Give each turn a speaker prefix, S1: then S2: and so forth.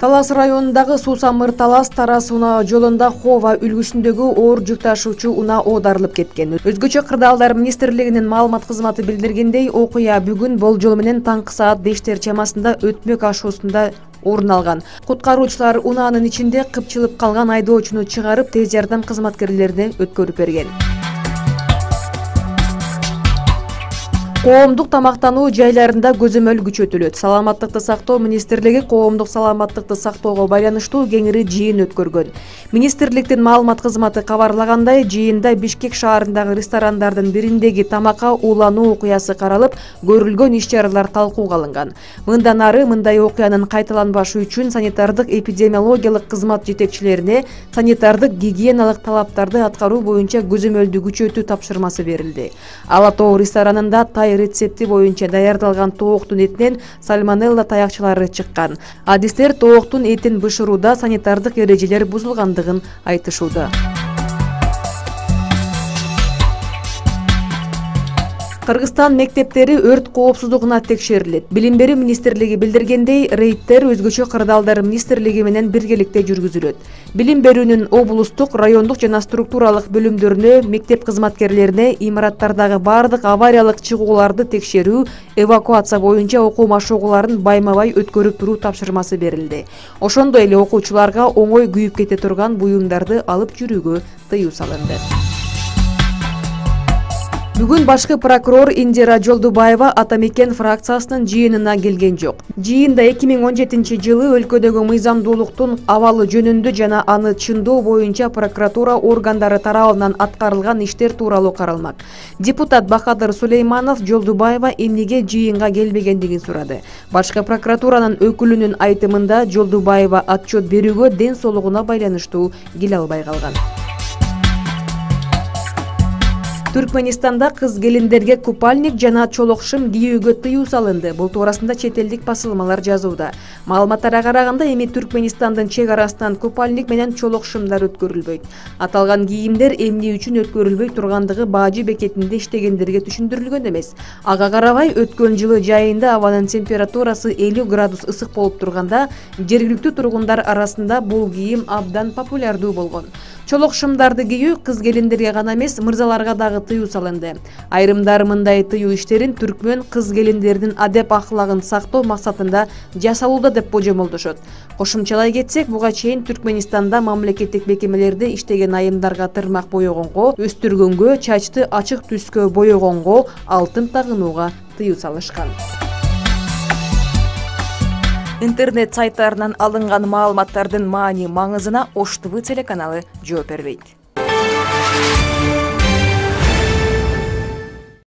S1: Талас районундагы Суу-Самыр-Талас Тарас унаа жолунда Хова үлгүсүндөгү оор жүк ташуучу унаа оодарылып кеткен. Өзгөчө кырдаалдар министрлигинин маалымат кызматы билдиргендей, окуя бүгүн болжол менен таңкы саат 5 чамасында өтмөк ашуусунда орун алган. Куткаруучулар унаанын ичинде кыпчылып калган айдоочуну чыгарып, тез жардам кызматкерлерине өткөрүп берген. Коомдук тамактануу жайларында көзөмөл күчөтүлөт. Саламаттыкты сактоо министрлиги коомдук саламаттыкты сактоого байланыштуу кеңири жыйын өткөргөн. Министрликтин маалымат кызматы кабарлагандай, жыйында Бишкек шаарындагы ресторандардын бириндеги тамакка уулануу окуясы каралып, көрүлгөн иш-чаралар талкууга алынган. Мындан ары мындай окуянын кайталанбашы үчүн санитардык эпидемиологиялык кызмат жетекчилерине санитардык гигиеналык талаптарды аткаруу боюнча көзөмөлдү күчөтүү тапшырмасы берилди. Ала Тоо ресторанында рецепти боюнча даярдалган тооктун этинен сальмонелла таякчылары чыккан. Адистер тооктун этин бышырууда санитардык эрежелер бузулгандыгын айтышууда. Кыргызстан мектептери өрт коопсуздугуна текшерилет. Билим берүү министрлиги билдиргендей, рейдтер өзгөчө кырдаалдар министрлиги менен биргеликте жүргүзүлөт. Билим берүүнүн облустук, райондук жана структуралык бөлүмдөрүнө, мектеп кызматкерлерине имараттардагы бардык авариялык чыгууларды текшерүү, эвакуация боюнча окуу машыгууларын байма-бай өткөрүп туруу тапшырмасы берилди. Ошондой эле окуучуларга оңой күйүп кете турган буюмдарды алып жүрүүгө тыюу салынды. Бүгүн башкы прокурор Индира Жолдубаева Ата Мекен фракциясынын жыйынына келген жок. Жыйында 2017 жылы өлкөдөгү мыйзамдуулуктун абалы жөнүндө жана аны чындоо боюнча прокуратура органдары тарабынан аткарылган иштер тууралуу каралмак. Депутат Бахадыр Сулейманов Жолдубаева эмнеге жыйынга келбегендигин сурады. Башкы прокуратуранын өкүлүнүн айтымында Жолдубаева отчет берүүгө ден соолугуна байланыштуу келе албай калган. Түркменистанда кыз келиндерге купальник жана чолокшым кийүүгө тыюу салынды. Бул туурасында чет элдик басылмалар жазууда. Маалыматтарга караганда, эми Түркменистандын чек арасынан купальник менен чолокшымдар өткөрүлбөйт. Аталган кийимдер эмне үчүн өткөрүлбөй тургандыгы бажы бекетинде иштегендерге түшүндүрүлгөн эмес. Ага карабай, өткөн жылы жайында абанын температурасы 50 градус ысык болуп турганда, жергиликтүү тургундар арасында бул кийим абдан популярдуу болгон. Чолокшымдарды кийүү кыз келиндерге гана эмес, мырзаларга дагы тыюу салынды. Айрымдар мындай тыюу иштерин түркмөн кыз келиндердин адеп ахлагын сактоо максатында жасалууда деп божомолдошот. Кошумчалай кетсек, буга чейин Түркменистанда мамлекеттик мекемелерде иштеген айымдарга тырмак боёгонго, өстүргөнгө, чачты ачык түскө боёгонго, алтын тагынууга тыюу салышкан. Интернет сайттарынан алынган маалыматтардын маани маңызына Ош ТВ телеканалы жооп бербейт.